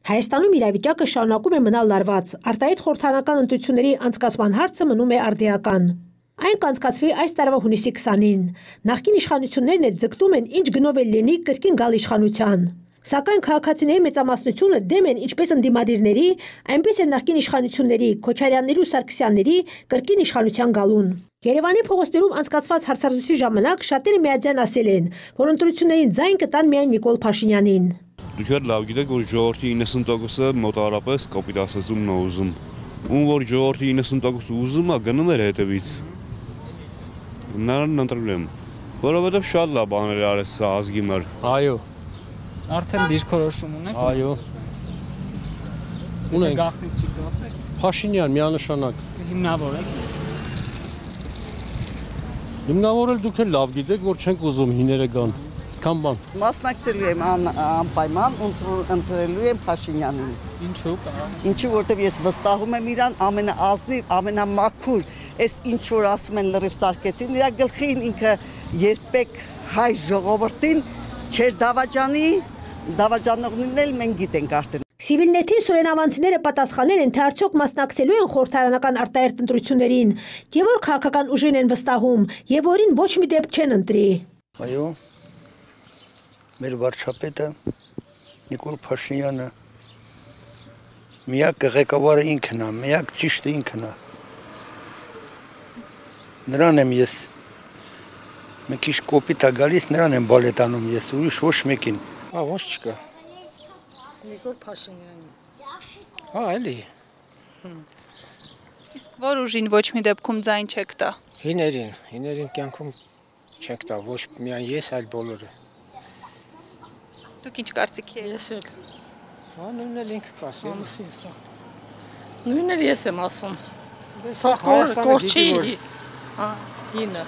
Հայաստանում իրավիճակը շարունակում է մնալ լարված, արտահայտ խորհրդարանական ընտրությունների անցկացման հարցը մնում է արդիական։ Այն կանցկացվի այս տարվա հունիսի 20-ին։ Նախկին իշխանություններն էլ ձգտում են ինչ գնով էլ լինի կրկին գալ իշխանության։ Սակայն քաղաքացիների մեծամասնությունը դեմ են ինչպես ընդդիմադիրների, այնպես էլ նախկին իշխանությունների, Քոչարյանների ու Սարգսյանների կրկին իշխանության գալուն։ Երևանի փողոցներում անցկացված հարցազրույցի ժամանակ շատերը միաձայն ասել են, որ ընտրություններին ձայն կտան միայն Նիկոլ Փաշինյանին։ Դուք լավ գիտեք, որ ժողովրդի 90%-ը մոտավորապես կոպիտ ասածումն է ուզում։ Ում որ ժողովրդի 90% ուզում է, գնում էր հետևից։ Նրան ընտրել եմ, որովհետև շատ լավ բաներ արեց սա ազգի մար։ Այո։ Արդեն դիրքորոշում ունեք։ Այո։ Ունենք։ Գաղտնիք չի կասեք։ Փաշինյան միանշանակ։ Հիմնավորել։ Հիմնավորել դուք էլ լավ գիտեք, որ չենք ուզում հիները գան։ Քան բան։ Մասնակցելու եմ անպայման ընտրելու եմ Փաշինյանին։ Ինչու՞։ Ինչու, որտեղ ես վստահում եմ իրան ամենաազնիվ, ամենամաքուր, այս ինչ որ ասում են լրիվ սարքեցին, իր գլխին ինքը երբեք հայ ժողովրդին չեր դավաճանի, դավաճանողներն էլ մենք գիտենք արդեն։ Սիվիլնեթի սուրենավանցիները պատասխանել են, թե արդյոք մասնակցելու են խորհրդարանական արտահերթ ընտրություններին, եւ որ քաղաքական ուժին են վստահում, եւ որին ոչ մի դեպք չեն ընտրի։ Այո, մեր վարչապետը Նիկոլ Փաշինյանը միակ ղեկավարը ինքն է, միակ ճիշտը ինքն է։ Նրան եմ ես մի քիչ կոպիտ է գալիս, նրան եմ բալետանում ես, ուրիշ ոչ մեկին։ Ոչ չկա։ Նիկոլ Փաշինյանը։ Էլի։ Իսկ որ ուժին ոչ մի դեպքում ձայն չեք տա։ Հիներին կյանքում չեք տա, ոչ միայն ես, այլ բոլորը։ Դուք ինչ կարծիքի եք։ Ես էլ։ Նույնն էլ ինքը կասի։ Նույնն էլ ես եմ ասում։ Կորչի։ Հինը։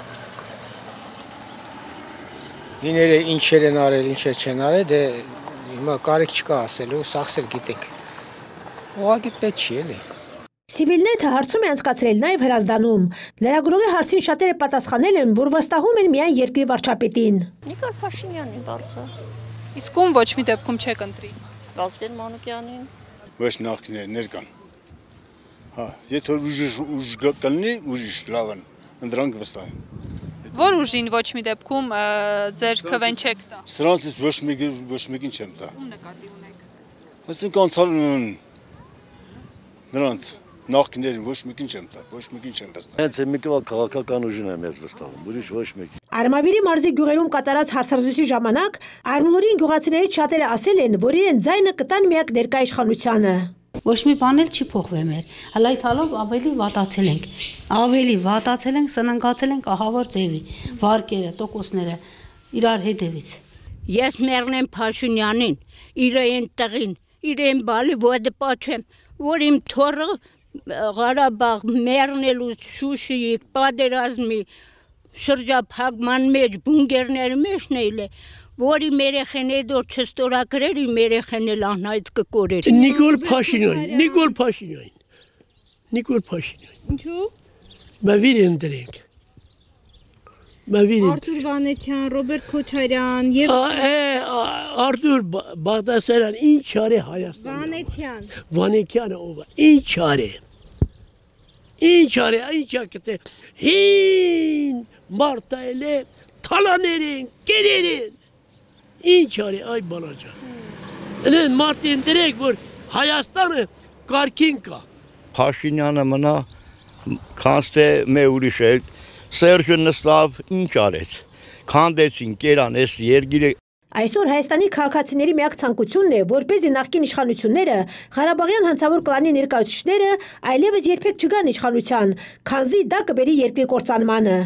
Հիները ինչեր են արել, ինչեր չեն արել, դե հիմա կարիք չկա ասելու, սաղսել գիտենք։ Ուղղակի պետք չի էլի։ Սիվիլնեթը հարցում է անցկացրել նաև Հրազդանում։ Լրագրողի հարցին շատերը պատասխանել են, որ վստահում են միայն երկրի վարչապետին։ Նիկոլ Փաշինյանին բարձր։ Իսկ ում ոչ մի դեպքում չեք ընտրի։ Վազգեն Մանուկյանին։ Ոչ նախկիներ կան։ Հա, եթե ուժ կլինի, ուժ լավ են, ընդրանք վստահ են։ Որ ուժին ոչ մի դեպքում ձեր քվեն չեք տա։ Սրանցից ոչ մեկին չեմ տա։ Ում նկատի ունեք։ Այսինքն անցալ նրանց նախկիներին ոչ մեկին չեմ տա, ոչ մեկին չեմ վստահ։ Հենց մի քաղաքական ուժին եմ ես վստահում, ուրիշ ոչ մեկին։ Արմավիրի մարզի գյուղերում կատարած հարցազրույցի ժամանակ Արմունորին գյուղացիներից շատերը ասել են, որ իրեն ձայնը կտան միակ ներկա իշխանությանը։ Ոչ մի բան էլ չի փոխվել մեր։ Հələ այդ հալով ավելի վատացել ենք, սննգացել ենք ահավոր ձևի, վարկերը, տոկոսները իրար հետևից։ Ես մեռնեմ Փաշինյանին, իրեն տղին, իրեն բալի ոդը պաչեմ, որ իմ թորը Ղարաբաղ մեռնելու Շուշիի պատերազմի շրջափակման մեջ բունկերների մեջն է, որի երեխեները դեռ չստորագրել, իմ երեխեն էլ անհայտ կկորեր։ Նիկոլ Փաշինյան։ Ինչու՞։ Մավիր ընտրենք։ Արթուր Վանեցյան, Ռոբերտ Քոչարյան եւ Արթուր Բաղդասարյան ինչ արի Հայաստան։ Վանեցյանը ով է։ Ինչ արի, կտե։ Հին մարտայել է թալաներին, կերերին։ Ինչ արի այ բալաջան։ Դեն մարտին դրեք, որ Հայաստանը կարգին կա։ Փաշինյանը մնա կանստե մե ուրիշ է, Սերժը նստավ ինչ արեց, քանդեցին, կերան ես երգիրը։ Այսօր Հայաստանի քաղաքացիների միակ ցանկությունն է, որպեսզի նախկին իշխանությունները, Ղարաբաղյան հանցավոր կլանի ներկայացուցիչները այլևս երբեք չգան իշխանության, քանզի դա կբերի երկրի կործանմանը։